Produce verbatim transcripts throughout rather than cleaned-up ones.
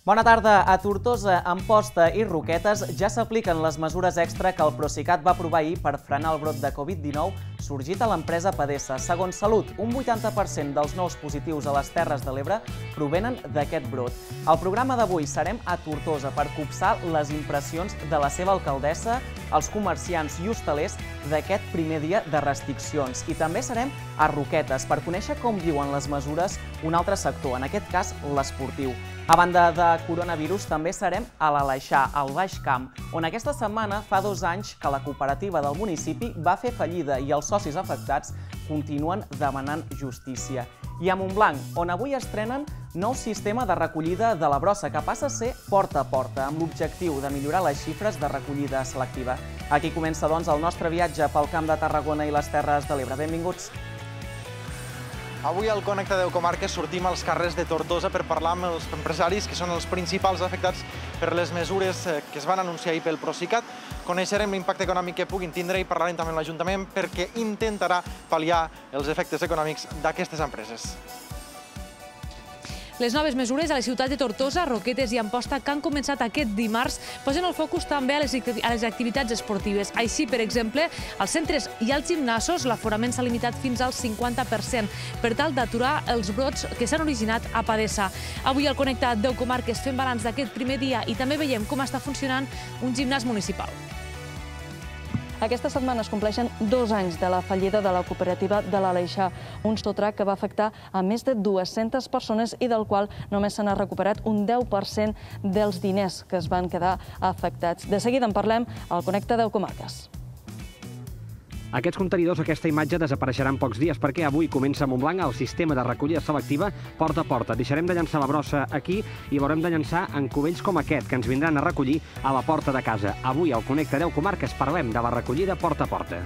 Bona tarda. A Tortosa, Amposta i Roquetes ja s'apliquen les mesures extra que el Procicat va aprovar ahir per frenar el brot de Covid dinou sorgit a l'empresa Padesa. Segons Salut, un vuitanta per cent dels nous positius a les Terres de l'Ebre provenen d'aquest brot. Al programa d'avui serem a Tortosa per copsar les impressions de la seva alcaldessa, els comerciants i hostalers d'aquest primer dia de restriccions. I també serem a Roquetes per conèixer com viuen les mesures un altre sector, en aquest cas l'esportiu. A banda de coronavirus, també serem a l'Aleixar, al Baix Camp, on aquesta setmana fa dos anys que la cooperativa del municipi va fer fallida i els socis afectats continuen demanant justícia. I a Montblanc, on avui estrenen nou sistema de recollida de la brossa, que passa a ser porta a porta, amb l'objectiu de millorar les xifres de recollida selectiva. Aquí comença, doncs, el nostre viatge pel Camp de Tarragona i les Terres de l'Ebre. Benvinguts! Avui al Connecta deu Comarques sortim als carrers de Tortosa per parlar amb els empresaris que són els principals afectats per les mesures que es van anunciar ahir pel Procicat. Coneixerem l'impacte econòmic que puguin tindre i parlarem també amb l'Ajuntament perquè intentarà pal·liar els efectes econòmics d'aquestes empreses. Les noves mesures a les ciutats de Tortosa, Roquetes i Amposta que han començat aquest dimarts posen el focus també a les activitats esportives. Així, per exemple, als centres i als gimnasos l'aforament s'ha limitat fins al cinquanta per cent per tal d'aturar els brots que s'han originat a Padesa. Avui al Connecta deu Comarques fem balanç d'aquest primer dia i també veiem com està funcionant un gimnàs municipal. Aquesta setmana es compleixen dos anys de la fallida de la cooperativa de l'Aleixar, un sotrac que va afectar a més de dues-centes persones i del qual només se n'ha recuperat un deu per cent dels diners que es van quedar afectats. De seguida en parlem al Connecta deu Comarques. Aquests contenidors, aquesta imatge, desapareixeran pocs dies perquè avui comença a Montblanc el sistema de recollida selectiva porta a porta. Deixarem de llançar la brossa aquí i l'haurem de llançar en cubells com aquest, que ens vindran a recollir a la porta de casa. Avui al Connecta deu Comarques parlem de la recollida porta a porta.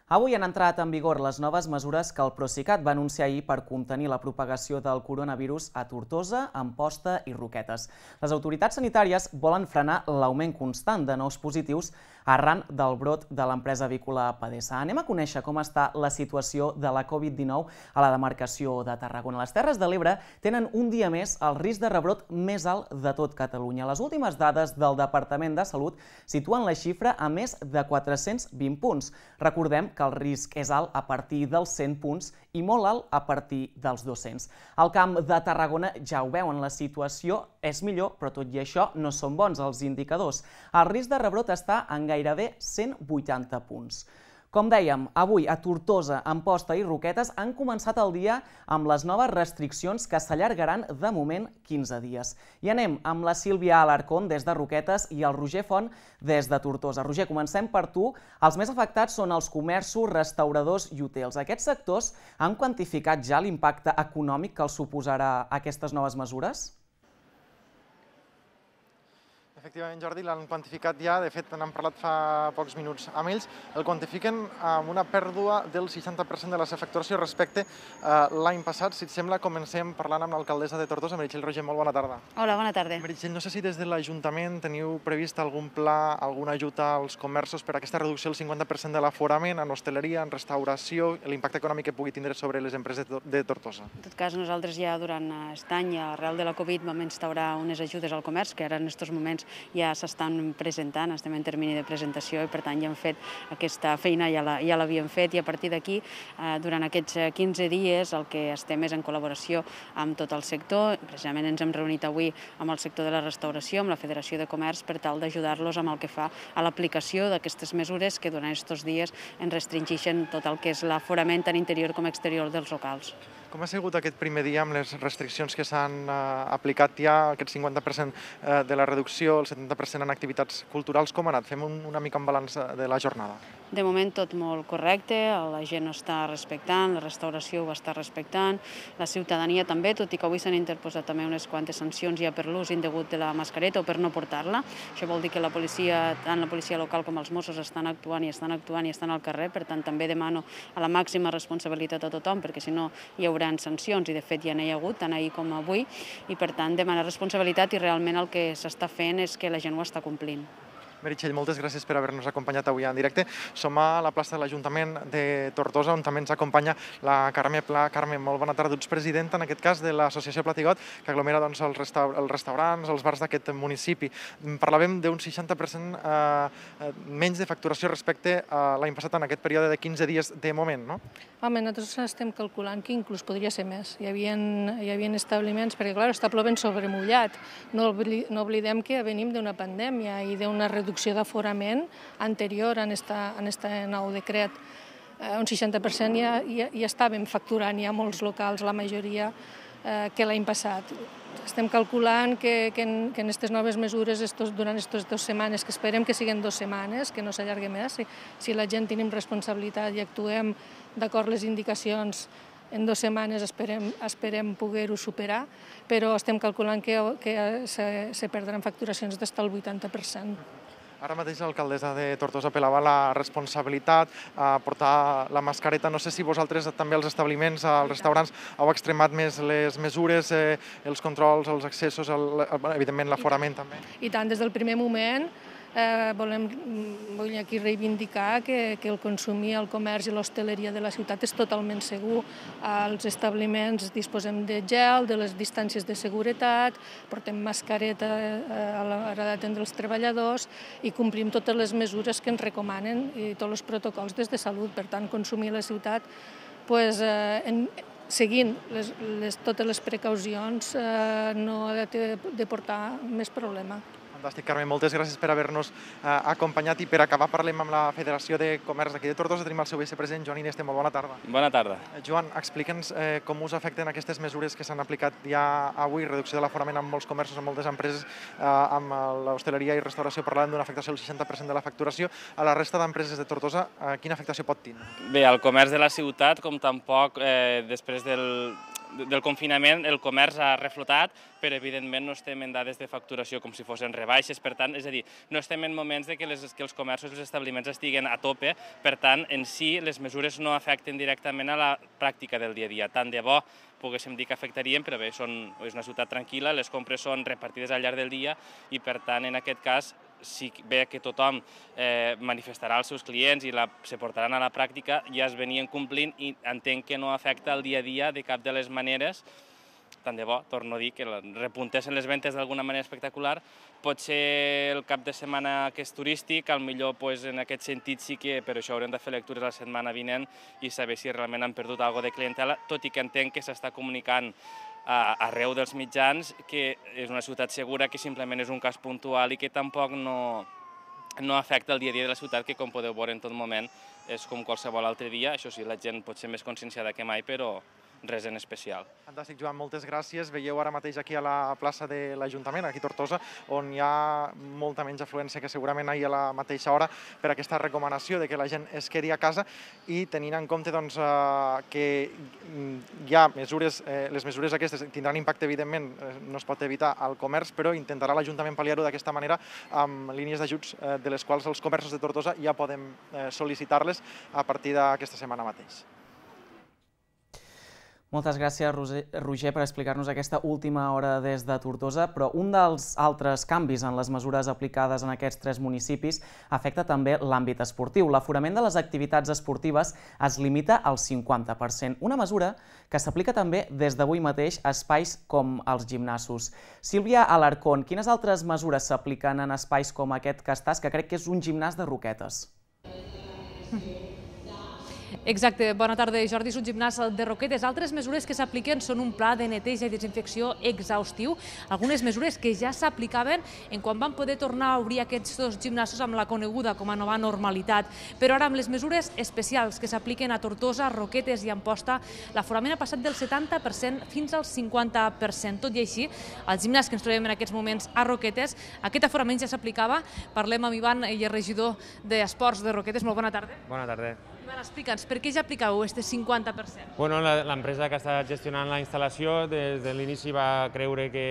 Avui han entrat en vigor les noves mesures que el Procicat va anunciar ahir per contenir la propagació del coronavirus a Tortosa, Amposta i Roquetes. Les autoritats sanitàries volen frenar l'augment constant de nous positius arran del brot de l'empresa avícola Padesa. Anem a conèixer com està la situació de la Covid dinou a la demarcació de Tarragona. Les Terres de l'Ebre tenen un dia més el risc de rebrot més alt de tot Catalunya. Les últimes dades del Departament de Salut situen la xifra a més de quatre-cents vint punts. Recordem que el risc és alt a partir dels cent punts i molt alt a partir dels dos-cents. Al Camp de Tarragona ja ho veuen, la situació és millor, però tot i això no són bons els indicadors. El risc de rebrot està en gairebé cent vuitanta punts. Com dèiem, avui a Tortosa, Amposta i Roquetes han començat el dia amb les noves restriccions que s'allargaran de moment quinze dies. I anem amb la Sílvia Alarcón des de Roquetes i el Roger Font des de Tortosa. Roger, comencem per tu. Els més afectats són els comerços, restauradors i hotels. Aquests sectors han quantificat ja l'impacte econòmic que els suposarà aquestes noves mesures? Efectivament, Jordi, l'han quantificat ja, de fet n'han parlat fa pocs minuts amb ells, el quantifiquen amb una pèrdua del seixanta per cent de la facturació respecte a l'any passat. Si et sembla, comencem parlant amb l'alcaldessa de Tortosa, Meritxell Roger. Molt bona tarda. Hola, bona tarda. Meritxell, no sé si des de l'Ajuntament teniu previst algun pla, alguna ajuda als comerços per a aquesta reducció del cinquanta per cent de l'aforament en hostaleria, en restauració, l'impacte econòmic que pugui tindre sobre les empreses de Tortosa. En tot cas, nosaltres ja durant aquest any, arrel de la Covid, vam instaurar unes ajudes al comerç, que ara en aquests moments ja s'estan presentant, estem en termini de presentació i per tant ja hem fet aquesta feina, ja l'havíem fet i a partir d'aquí, durant aquests quinze dies, el que estem és en col·laboració amb tot el sector. Precisament ens hem reunit avui amb el sector de la restauració, amb la Federació de Comerç, per tal d'ajudar-los amb el que fa a l'aplicació d'aquestes mesures que durant aquests dies ens restringeixen tot el que és l'aforament tant interior com exterior dels locals. Com ha sigut aquest primer dia amb les restriccions que s'han aplicat ja, aquest cinquanta per cent de la reducció, el setanta per cent en activitats culturals? Com ha anat? Fem una mica un balanç de la jornada. De moment tot molt correcte, la gent ho està respectant, la restauració ho està respectant, la ciutadania també, tot i que avui s'han interposat també unes quantes sancions ja per l'ús indegut de la mascareta o per no portar-la. Això vol dir que la policia, tant la policia local com els Mossos estan actuant i estan actuant i estan al carrer, per tant també demano a la màxima responsabilitat a tothom, perquè si no hi haurà sancions i de fet ja n'hi ha hagut, tant ahir com avui, i per tant demanar responsabilitat i realment el que s'està fent és que la gent ho està complint. Meritxell, moltes gràcies per haver-nos acompanyat avui en directe. Som a la plaça de l'Ajuntament de Tortosa, on també ens acompanya la Carme Pla. Carme, molt bona tarda. Tu ets presidenta, en aquest cas, de l'associació Platigot, que aglomera els restaurants, els bars d'aquest municipi. Parlàvem d'un seixanta per cent menys de facturació respecte a l'any passat en aquest període de quinze dies de moment, no? Home, nosaltres estem calculant que inclús podria ser més. Hi havia establiments, perquè, clar, està plovent sobre mullat. No oblidem que venim d'una pandèmia i d'una reducció d'aforament anterior a aquest nou decret. Un seixanta per cent ja estàvem facturant, hi ha molts locals, la majoria, que l'any passat. Estem calculant que en aquestes noves mesures, durant aquestes dues setmanes, que esperem que siguin dues setmanes, que no s'allargui més, si la gent tenim responsabilitat i actuem d'acord les indicacions, en dues setmanes esperem poder-ho superar, però estem calculant que se perdran facturacions d'fins al vuitanta per cent. Ara mateix l'alcaldessa de Tortosa apel·lava la responsabilitat a portar la mascareta. No sé si vosaltres també als establiments, als restaurants, heu extremat més les mesures, els controls, els accessos, evidentment l'aforament també. I tant, des del primer moment volem aquí reivindicar que el consum i el comerç i l'hostaleria de la ciutat és totalment segur. Als establiments disposem de gel, de les distàncies de seguretat, portem mascareta a l'hora d'atendre els treballadors i complim totes les mesures que ens recomanen i tots els protocols des de salut. Per tant, consumir a la ciutat seguint totes les precaucions no ha de portar més problema. Fantàstic, Carme. Moltes gràcies per haver-nos acompanyat i per acabar parlem amb la Federació de Comerç d'aquí de Tortosa. Tenim el seu vicepresident, Joan Ineste. Molt bona tarda. Bona tarda. Joan, explica'ns com us afecten aquestes mesures que s'han aplicat ja avui, reducció de l'aforament en molts comerços, en moltes empreses, amb l'hostaleria i restauració parlant d'una afectació del seixanta per cent de la facturació. A la resta d'empreses de Tortosa, quina afectació pot tenir? Bé, el comerç de la ciutat, com tampoc després del del confinament, el comerç ha reflotat, però evidentment no estem en dades de facturació com si fossin rebaixes, per tant, és a dir, no estem en moments que els comerços i els establiments estiguen a tope, per tant, en si, les mesures no afecten directament a la pràctica del dia a dia. Tant de bo poguéssim dir que afectarien, però bé, és una ciutat tranquil·la, les compres són repartides al llarg del dia i, per tant, en aquest cas, si bé que tothom manifestarà als seus clients i se portaran a la pràctica, ja es venien complint i entenc que no afecta el dia a dia de cap de les maneres. Tant de bo, torno a dir, que repuntessin les ventes d'alguna manera espectacular. Pot ser el cap de setmana que és turístic, potser en aquest sentit sí que per això haurem de fer lectures la setmana vinent i saber si realment han perdut alguna cosa de clientela, tot i que entenc que s'està comunicant arreu dels mitjans que és una ciutat segura, que simplement és un cas puntual i que tampoc no afecta el dia a dia de la ciutat, que com podeu veure en tot moment és com qualsevol altre dia. Això sí, la gent pot ser més conscienciada que mai, però res en especial. Fantàstic, Joan, moltes gràcies. Veieu ara mateix aquí a la plaça de l'Ajuntament, aquí a Tortosa, on hi ha molta menys afluència que segurament ahir a la mateixa hora per aquesta recomanació de que la gent es quedi a casa i tenint en compte que hi ha mesures, les mesures aquestes tindran impacte, evidentment, no es pot evitar al comerç, però intentarà l'Ajuntament pal·liar-ho d'aquesta manera amb línies d'ajuts de les quals els comerços de Tortosa ja podem sol·licitar-les a partir d'aquesta setmana mateix. Moltes gràcies, Roger, per explicar-nos aquesta última hora des de Tortosa, però un dels altres canvis en les mesures aplicades en aquests tres municipis afecta també l'àmbit esportiu. L'aforament de les activitats esportives es limita al cinquanta per cent, una mesura que s'aplica també des d'avui mateix a espais com els gimnasos. Sílvia Alarcón, quines altres mesures s'apliquen en espais com aquest que estàs, que crec que és un gimnàs de Roquetes? Exacte, bona tarda, Jordi, és un gimnàs de Roquetes. Altres mesures que s'apliquen són un pla de neteja i desinfecció exhaustiu, algunes mesures que ja s'aplicaven en quan van poder tornar a obrir aquests dos gimnasos amb la coneguda com a nova normalitat. Però ara, amb les mesures especials que s'apliquen a Tortosa, Roquetes i Amposta, l'aforament ha passat del setanta per cent fins al cinquanta per cent. Tot i així, al gimnàs que ens trobem en aquests moments a Roquetes, aquest aforament ja s'aplicava. Parlem amb Ivan, ell és regidor d'Esports de Roquetes. Molt bona tarda. Bona tarda. Ivan, explica'ns, per què ja aplicàveu aquest cinquanta per cent? Bueno, l'empresa que està gestionant la instal·lació des de l'inici va creure que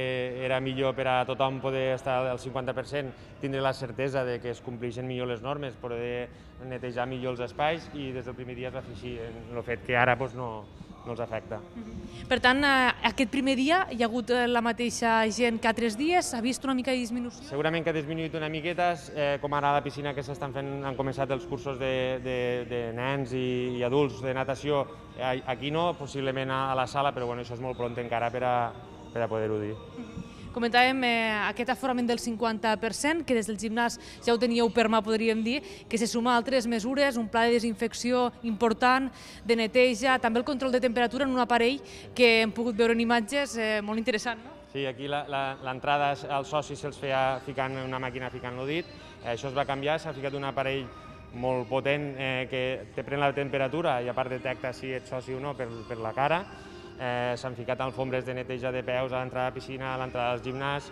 era millor per a tothom poder estar al cinquanta per cent, tindre la certesa de que es compleixen millor les normes, poder netejar millor els espais, i des del primer dia es va fer així. El fet que ara no no els afecta. Per tant, aquest primer dia hi ha hagut la mateixa gent que altres dies? S'ha vist una mica de disminució? Segurament que ha disminuït una miqueta, com ara a la piscina que s'estan fent, han començat els cursos de nens i adults de natació. Aquí no, possiblement a la sala, però això és molt pront encara per a poder-ho dir. Comentàvem aquest aforament del cinquanta per cent, que des del gimnàs ja ho teníeu per mà, podríem dir, que se suma a altres mesures, un pla de desinfecció important, de neteja, també el control de temperatura en un aparell que hem pogut veure en imatges molt interessant, no? Sí, aquí l'entrada als socis se'ls feia ficant una màquina ficant-lo dit, això es va canviar, s'ha ficat un aparell molt potent que te pren la temperatura i a part detecta si ets soci o no per la cara. S'han ficat alfombres de neteja de peus a l'entrada de la piscina, a l'entrada del gimnàs,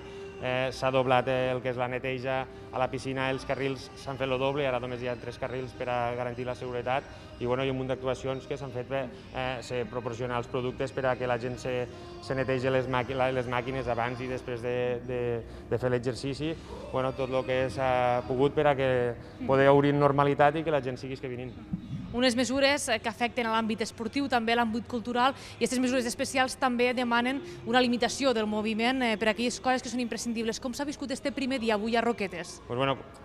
s'ha doblat el que és la neteja a la piscina, els carrils s'han fet el doble, ara només hi ha tres carrils per a garantir la seguretat i hi ha un munt d'actuacions que s'han fet per proporcionar els productes per a que la gent se netegi les màquines abans i després de fer l'exercici, tot el que s'ha pogut per a que poder obrir en normalitat i que la gent sigui que vinguin. Unes mesures que afecten a l'àmbit esportiu, també a l'àmbit cultural, i aquestes mesures especials també demanen una limitació del moviment per a aquelles coses que són imprescindibles. Com s'ha viscut este primer dia avui a Roquetes?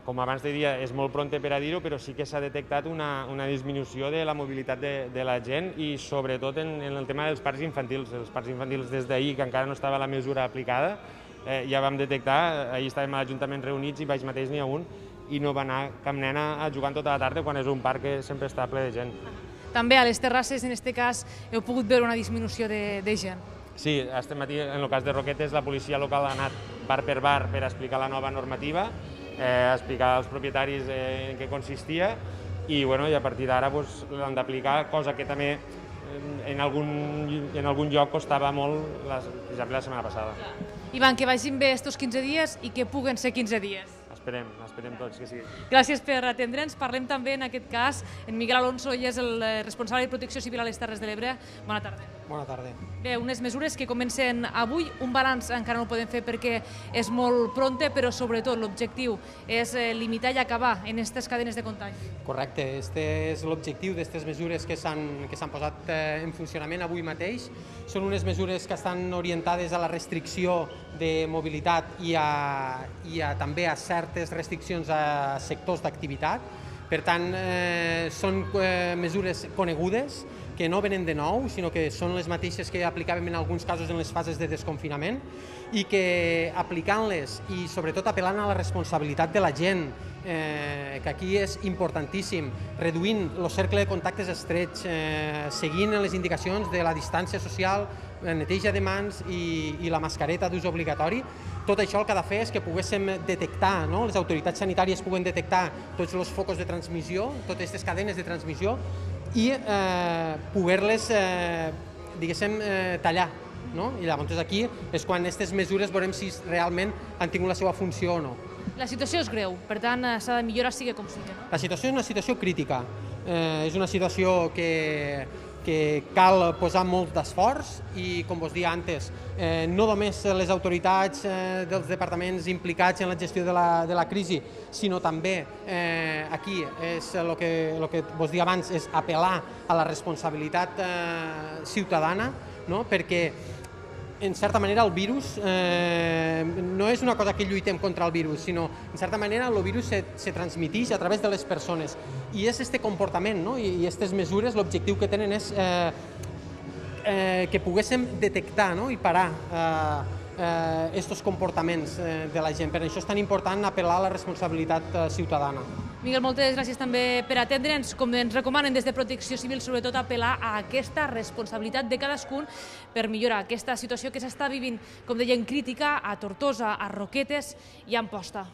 Com abans de dia, és molt pront per a dir-ho, però sí que s'ha detectat una disminució de la mobilitat de la gent i sobretot en el tema dels parcs infantils. Els parcs infantils des d'ahir, que encara no estava la mesura aplicada, ja vam detectar, ahir estàvem a l'Ajuntament reunits i baix mateix n'hi ha un, i no va anar cap nena a jugar tota la tarda quan és un parc que sempre està ple de gent. També a les terrasses, en aquest cas, heu pogut veure una disminució de gent? Sí, aquest matí, en el cas de Roquetes, la policia local ha anat bar per bar per explicar la nova normativa, explicar als propietaris en què consistia i a partir d'ara l'han d'aplicar, cosa que també en algun lloc costava molt, per exemple, la setmana passada. Ivan, que vagin bé estos quinze dies i que puguen ser quinze dies. Esperem, esperem tots que sigui. Gràcies per atendre'ns. Parlem també, en aquest cas, en Miguel Alonso, ell és el responsable de Protecció Civil a les Terres de l'Ebre. Bona tarda. Bona tarda. Bé, unes mesures que comencen avui. Un balanç encara no el podem fer perquè és molt pronte, però sobretot l'objectiu és limitar i acabar en aquestes cadenes de contagi. Correcte. Este és l'objectiu d'aquestes mesures que s'han posat en funcionament avui mateix. Són unes mesures que estan orientades a la restricció de mobilitat i també a certes restriccions a sectors d'activitat. Per tant, són mesures conegudes, que no venen de nou, sinó que són les mateixes que aplicàvem en alguns casos en les fases de desconfinament i que aplicant-les i sobretot apel·lant a la responsabilitat de la gent, que aquí és importantíssim, reduint el cercle de contactes estrets, seguint les indicacions de la distància social, neteja de mans i la mascareta d'ús obligatori. Tot això el que ha de fer és que poguéssim detectar, les autoritats sanitàries puguen detectar tots els focus de transmissió, totes aquestes cadenes de transmissió i poder-les, diguéssim, tallar. I llavors aquí és quan aquestes mesures veurem si realment han tingut la seva funció o no. La situació és greu, per tant s'ha de millorar sigui com sigui. La situació és una situació crítica, és una situació que que cal posar molt d'esforç i, com vos deia antes, no només les autoritats dels departaments implicats en la gestió de la crisi, sinó també aquí, el que vos deia abans, és apel·lar a la responsabilitat ciutadana, perquè en certa manera el virus no és una cosa que lluitem contra el virus, sinó en certa manera el virus se transmeteix a través de les persones i és aquest comportament i aquestes mesures, l'objectiu que tenen és que poguéssim detectar i parar aquests comportaments de la gent. Per això és tan important apel·lar a la responsabilitat ciutadana. Miguel, moltes gràcies també per atendre'ns. Com ens recomanen des de Protecció Civil, sobretot apel·lar a aquesta responsabilitat de cadascun per millorar aquesta situació que s'està vivint, com deien, crítica a Tortosa, a Roquetes i a Amposta.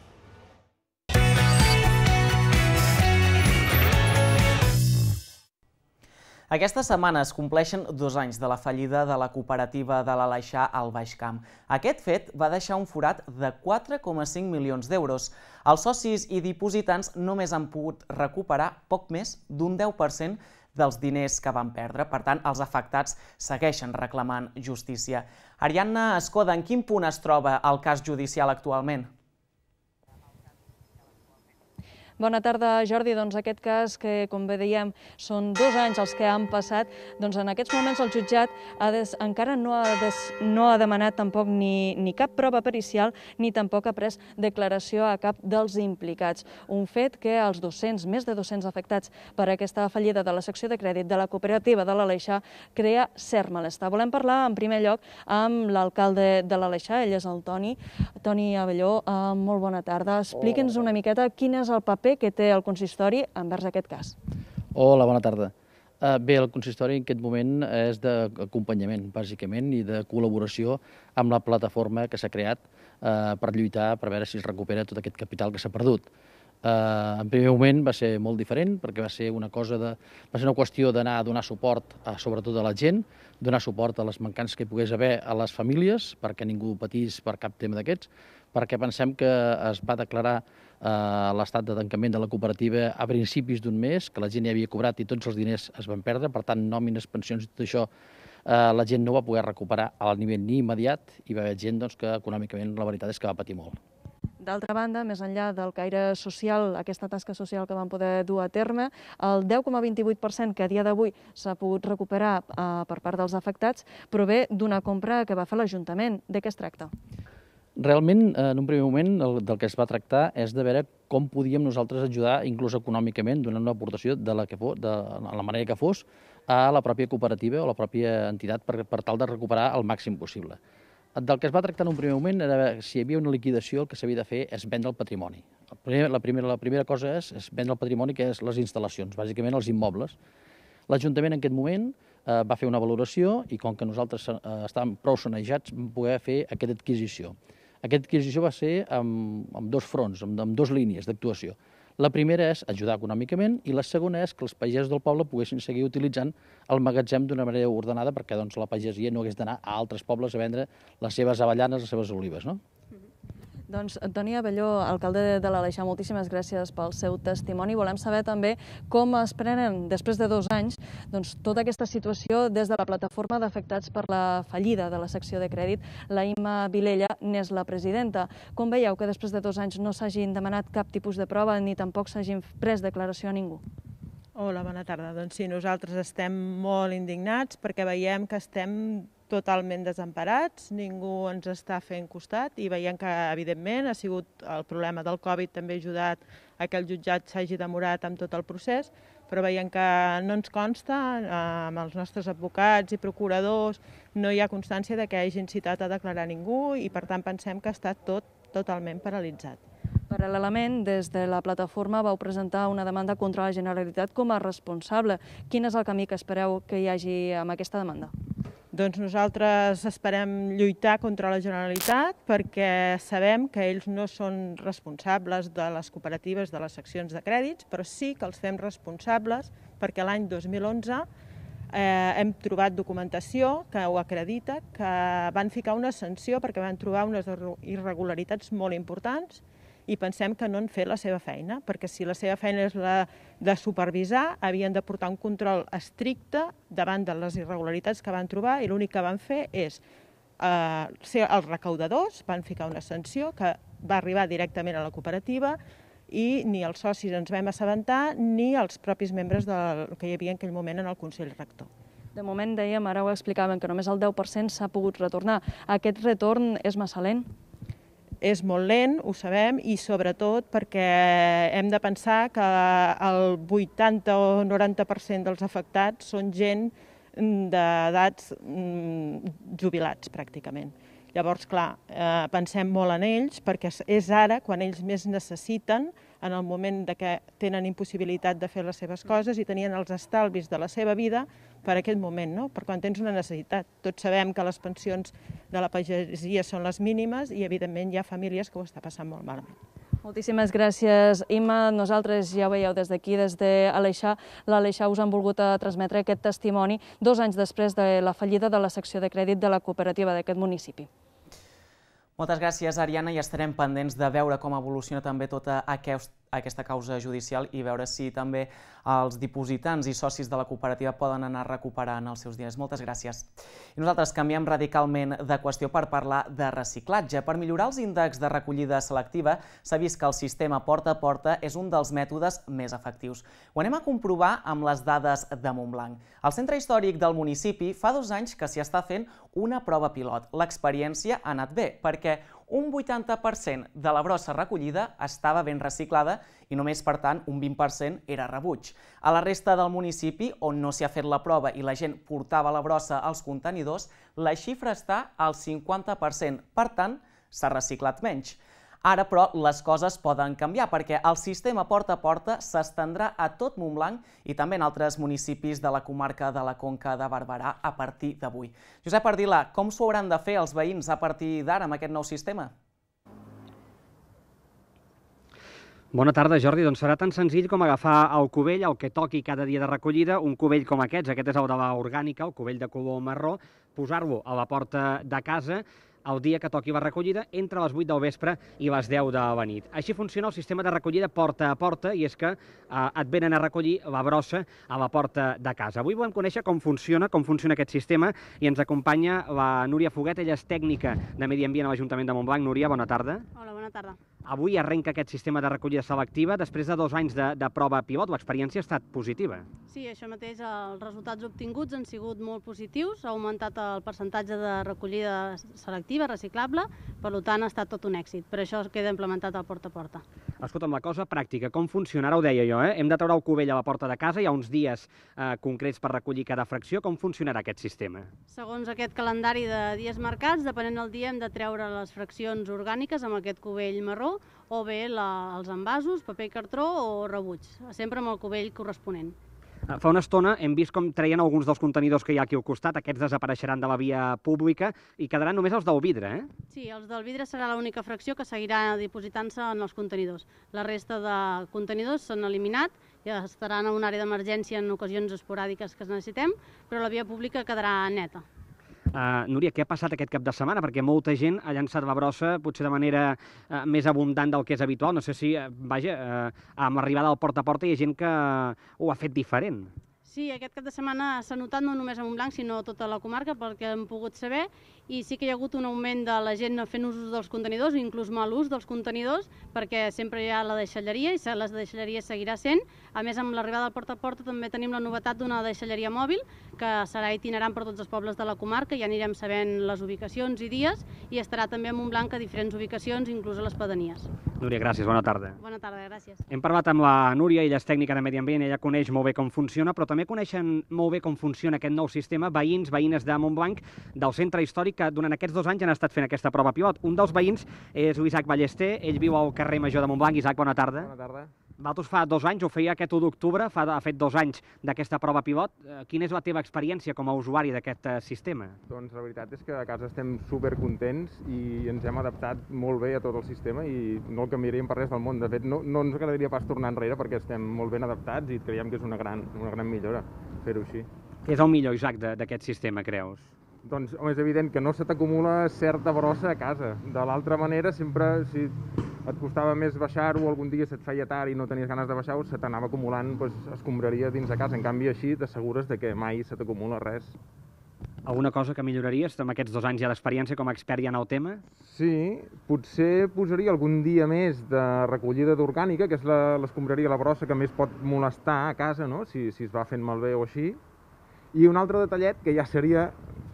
Aquesta setmana es compleixen dos anys de la fallida de la cooperativa de l'Aleixar al Baix Camp. Aquest fet va deixar un forat de quatre coma cinc milions d'euros. Els socis i dipositants només han pogut recuperar poc més d'un deu per cent dels diners que van perdre. Per tant, els afectats segueixen reclamant justícia. Ariadna Escoda, en quin punt es troba el cas judicial actualment? Bona tarda, Jordi. Doncs aquest cas, que com bé dèiem són dos anys els que han passat, doncs en aquests moments el jutjat ha des, encara no ha, des, no ha demanat tampoc ni, ni cap prova pericial ni tampoc ha pres declaració a cap dels implicats. Un fet que els dos-cents, més de dos-cents afectats per aquesta fallida de la secció de crèdit de la cooperativa de l'Aleixar crea cert malestar. Volem parlar en primer lloc amb l'alcalde de l'Aleixar, ell és el Toni. Toni Abelló, eh, molt bona tarda. Expliqui'ns una miqueta quin és el paper que té el consistori envers aquest cas. Hola, bona tarda. Bé, el consistori en aquest moment és d'acompanyament, bàsicament, i de col·laboració amb la plataforma que s'ha creat per lluitar, per veure si es recupera tot aquest capital que s'ha perdut. En primer moment va ser molt diferent, perquè va ser una cosa de, va ser una qüestió d'anar a donar suport, sobretot a la gent, donar suport a les mancances que hi pogués haver a les famílies, perquè ningú patís per cap tema d'aquests, perquè pensem que es va declarar l'estat de tancament de la cooperativa a principis d'un mes, que la gent ja havia cobrat i tots els diners es van perdre, per tant, nòmines, pensions i tot això, la gent no va poder recuperar al nivell ni immediat i va haver gent que econòmicament la veritat és que va patir molt. D'altra banda, més enllà del caire social, aquesta tasca social que van poder dur a terme, el deu coma vint-i-vuit per cent que a dia d'avui s'ha pogut recuperar per part dels afectats prové d'una compra que va fer l'Ajuntament. De què es tracta? Realment, en un primer moment, del que es va tractar és de veure com podíem nosaltres ajudar, inclús econòmicament, donant una aportació de la, que fos, de la manera que fos, a la pròpia cooperativa o la pròpia entitat per, per tal de recuperar el màxim possible. Del que es va tractar en un primer moment era veure si hi havia una liquidació, el que s'havia de fer és vendre el patrimoni. La primera, la primera cosa és, és vendre el patrimoni, que és les instal·lacions, bàsicament els immobles. L'Ajuntament en aquest moment eh, va fer una valoració i com que nosaltres eh, estàvem prou sanejats vam poder fer aquesta adquisició. Aquesta adquisició va ser amb, amb dos fronts, amb, amb dues línies d'actuació. La primera és ajudar econòmicament i la segona és que els pagesos del poble poguessin seguir utilitzant el magatzem d'una manera ordenada perquè doncs, la pagesia no hagués d'anar a altres pobles a vendre les seves avellanes, les seves olives, no? Doncs, Toni Abelló, alcalde de l'Aleixar, moltíssimes gràcies pel seu testimoni. Volem saber també com es prenen, després de dos anys, doncs, tota aquesta situació des de la plataforma d'afectats per la fallida de la secció de crèdit. La Imma Vilella n'és la presidenta. Com veieu que després de dos anys no s'hagin demanat cap tipus de prova ni tampoc s'hagin pres declaració a ningú? Hola, bona tarda. Doncs sí, nosaltres estem molt indignats perquè veiem que estem totalment desemparats, ningú ens està fent costat i veiem que, evidentment, ha sigut el problema del Covid també ha ajudat a que el jutjat s'hagi demorat amb tot el procés, però veiem que no ens consta, amb els nostres advocats i procuradors, no hi ha constància de que hagin citat a declarar ningú i, per tant, pensem que està tot totalment paralitzat. Paral·lelament, des de la plataforma vau presentar una demanda contra la Generalitat com a responsable. Quin és el camí que espereu que hi hagi amb aquesta demanda? Doncs nosaltres esperem lluitar contra la Generalitat perquè sabem que ells no són responsables de les cooperatives, de les seccions de crèdits, però sí que els fem responsables perquè l'any dos mil onze eh, hem trobat documentació que ho acredita, que van ficar una sanció perquè van trobar unes irregularitats molt importants i pensem que no han fet la seva feina, perquè si la seva feina és la de supervisar, havien de portar un control estricte davant de les irregularitats que van trobar i l'únic que van fer és eh, ser els recaudadors, van ficar una sanció que va arribar directament a la cooperativa i ni els socis ens vam assabentar ni els propis membres del, que hi havia en aquell moment en el Consell Rector. De moment, dèiem, ara ho explicaven, que només el deu per cent s'ha pogut retornar. Aquest retorn és massa lent? És molt lent, ho sabem, i sobretot perquè hem de pensar que el vuitanta o noranta per cent dels afectats són gent d'edats jubilats, pràcticament. Llavors, clar, eh, pensem molt en ells perquè és ara quan ells més necessiten, en el moment de que tenen impossibilitat de fer les seves coses i tenien els estalvis de la seva vida per aquest moment, no? Per quan tens una necessitat. Tots sabem que les pensions de la pagesia són les mínimes i, evidentment, hi ha famílies que ho està passant molt malament. Moltíssimes gràcies, Imma. Nosaltres, ja ho veieu des d'aquí, des d'Aleixar, l'Aleixar us han volgut transmetre aquest testimoni dos anys després de la fallida de la secció de crèdit de la cooperativa d'aquest municipi. Moltes gràcies, Ariana, i estarem pendents de veure com evoluciona també tota aquesta causa judicial i veure si també els dipositants i socis de la cooperativa poden anar recuperant els seus diners. Moltes gràcies. I nosaltres canviem radicalment de qüestió per parlar de reciclatge. Per millorar els índexs de recollida selectiva s'ha vist que el sistema porta a porta és un dels mètodes més efectius. Ho anem a comprovar amb les dades de Montblanc. Al centre històric del municipi fa dos anys que s'hi està fent una prova pilot. L'experiència ha anat bé perquè un vuitanta per cent de la brossa recollida estava ben reciclada i només, per tant, un vint per cent era rebuig. A la resta del municipi, on no s'hi ha fet la prova i la gent portava la brossa als contenidors, la xifra està al cinquanta per cent. Per tant, s'ha reciclat menys. Ara, però, les coses poden canviar perquè el sistema porta a porta s'estendrà a tot Montblanc i també en altres municipis de la comarca de la Conca de Barberà a partir d'avui. Josep Ardila, com s'ho hauran de fer els veïns a partir d'ara amb aquest nou sistema? Bona tarda, Jordi. Doncs serà tan senzill com agafar el cubell, el que toqui cada dia de recollida, un cubell com aquests, aquest és el de l'orgànica, el cubell de color marró, posar-lo a la porta de casa el dia que toqui la recollida entre les vuit del vespre i les deu de la nit. Així funciona el sistema de recollida porta a porta i és que eh, et venen a recollir la brossa a la porta de casa. Avui volem conèixer com funciona, com funciona aquest sistema i ens acompanya la Núria Foguet, ella és tècnica de Medi Ambient a l'Ajuntament de Montblanc. Núria, bona tarda. Hola, bona tarda. Avui arrenca aquest sistema de recollida selectiva després de dos anys de, de prova pilot. L'experiència ha estat positiva. Sí, això mateix, els resultats obtinguts han sigut molt positius, ha augmentat el percentatge de recollida selectiva, reciclable, per tant ha estat tot un èxit. Per això queda implementat el porta a porta. Escolta'm, la cosa pràctica, com funciona? Ara ho deia jo, eh? Hem de treure el cubell a la porta de casa, hi ha uns dies eh, concrets per recollir cada fracció. Com funcionarà aquest sistema? Segons aquest calendari de dies marcats, depenent del dia hem de treure les fraccions orgàniques amb aquest cubell marró o bé la, els envasos, paper i cartró o rebuig, sempre amb el cubell corresponent. Fa una estona hem vist com treien alguns dels contenidors que hi ha aquí al costat, aquests desapareixeran de la via pública i quedaran només els del vidre, eh? Sí, els del vidre serà l'única fracció que seguirà dipositant-se en els contenidors. La resta de contenidors s'han eliminat i estaran en una àrea d'emergència en ocasions esporàdiques que es necessitem, però la via pública quedarà neta. Uh, Núria, què ha passat aquest cap de setmana? Perquè molta gent ha llançat la brossa potser de manera uh, més abundant del que és habitual. No sé si, uh, vaja, uh, amb l'arribada del porta a porta hi ha gent que uh, ho ha fet diferent. Sí, aquest cap de setmana s'ha notat no només a Montblanc, sinó a tota la comarca, pel que hem pogut saber, i sí que hi ha hagut un augment de la gent fent ús dels contenidors, inclús mal ús dels contenidors, perquè sempre hi ha la deixalleria i la deixalleria seguirà sent. A més, amb l'arribada del porta a porta també tenim la novetat d'una deixalleria mòbil, que serà itinerant per tots els pobles de la comarca, ja anirem sabent les ubicacions i dies, i estarà també a Montblanc a diferents ubicacions, inclús a les pedanies. Núria, gràcies, bona tarda. Bona tarda, gràcies. Hem parlat amb la Núria, ella és tècnica de Medi Ambient, ella coneix molt bé com funciona, però també coneixen molt bé com funciona aquest nou sistema veïns, veïnes de Montblanc, del centre històric, que durant aquests dos anys han estat fent aquesta prova pilot. Un dels veïns és l'Isaac Ballester, ell viu al carrer Major de Montblanc. Isaac, bona tarda. Bona tarda. Vosaltres fa dos anys, ho feia aquest u d'octubre, fa, ha fet dos anys d'aquesta prova pilot. Quina és la teva experiència com a usuari d'aquest sistema? Doncs la veritat és que a casa estem supercontents i ens hem adaptat molt bé a tot el sistema i no el canviaríem per res del món. De fet, no, no ens agradaria pas tornar enrere perquè estem molt ben adaptats i creiem que és una gran, una gran millora fer-ho així. Què és el millor, Isaac, d'aquest sistema, creus? Doncs home, és evident que no se t'acumula certa brossa a casa. De l'altra manera, sempre, si et costava més baixar-ho, algun dia se't feia tard i no tenies ganes de baixar-ho, se t'anava acumulant doncs, escombraria dins de casa. En canvi, així t'assegures de que mai se t'acumula res. Alguna cosa que milloraries amb aquests dos anys ja d'experiència com a expert ja en el tema? Sí, potser posaria algun dia més de recollida d'orgànica, que és l'escombraria, la brossa que més pot molestar a casa, no? si, si es va fent malbé o així. I un altre detallet, que ja seria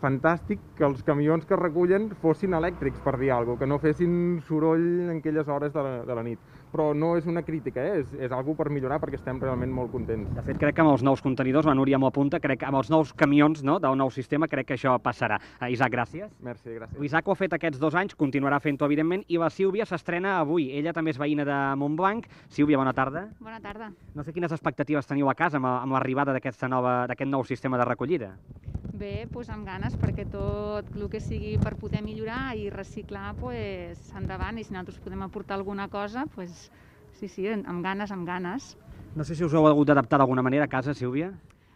fantàstic, que els camions que recullen fossin elèctrics, per dir alguna cosa, que no fessin soroll en aquelles hores de la, de la nit. Però no és una crítica, eh? és, és alguna per millorar perquè estem realment molt contents. De fet, crec que amb els nous contenidors, la Núria m'ho apunta, crec que amb els nous camions no, del nou sistema, crec que això passarà. Uh, Isaac, gràcies. Merci, gràcies. Isaac ho ha fet aquests dos anys, continuarà fent-ho, evidentment, i la Sílvia s'estrena avui. Ella també és veïna de Montblanc. Sílvia, bona tarda. Bona tarda. No sé quines expectatives teniu a casa amb, amb l'arribada d'aquest nou sistema de recollida. Bé, doncs amb ganes, perquè tot el que sigui per poder millorar i reciclar, doncs endavant, i si nosaltres podem aportar alguna cosa, doncs sí, sí, amb ganes, amb ganes. No sé si us heu hagut d'adaptar d'alguna manera a casa, Sílvia?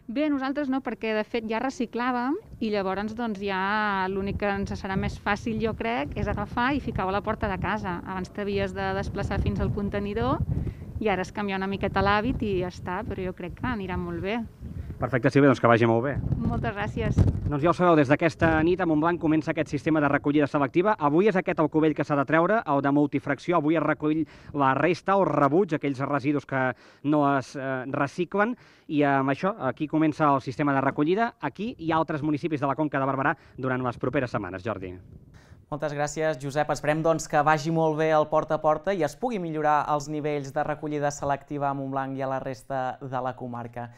Bé, nosaltres no, perquè de fet ja reciclàvem i llavors doncs ja l'únic que ens serà més fàcil, jo crec, és agafar i ficar-ho a la porta de casa. Abans t'havies de desplaçar fins al contenidor i ara és canviar una miqueta l'hàbit i ja està, però jo crec que anirà molt bé. Perfecte, Sílvia, doncs que vagi molt bé. Moltes gràcies. Doncs ja ho sabeu, des d'aquesta nit a Montblanc comença aquest sistema de recollida selectiva. Avui és aquest el cubell que s'ha de treure, el de multifracció. Avui es recull la resta o rebuig, aquells residus que no es eh, reciclen. I amb això, aquí comença el sistema de recollida. Aquí hi ha altres municipis de la Conca de Barberà durant les properes setmanes. Jordi. Moltes gràcies, Josep. Esperem doncs, que vagi molt bé el porta a porta i es pugui millorar els nivells de recollida selectiva a Montblanc i a la resta de la comarca.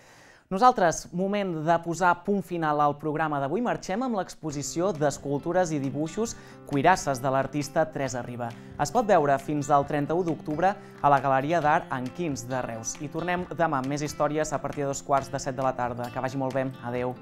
Nosaltres, moment de posar punt final al programa d'avui, marxem amb l'exposició d'escultures i dibuixos Cuirasses de l'artista Teresa Riba. Es pot veure fins al trenta-u d'octubre a la Galeria d'Art Enquins de Reus. I tornem demà amb més històries a partir de dos quarts de set de la tarda. Que vagi molt bé. Adéu.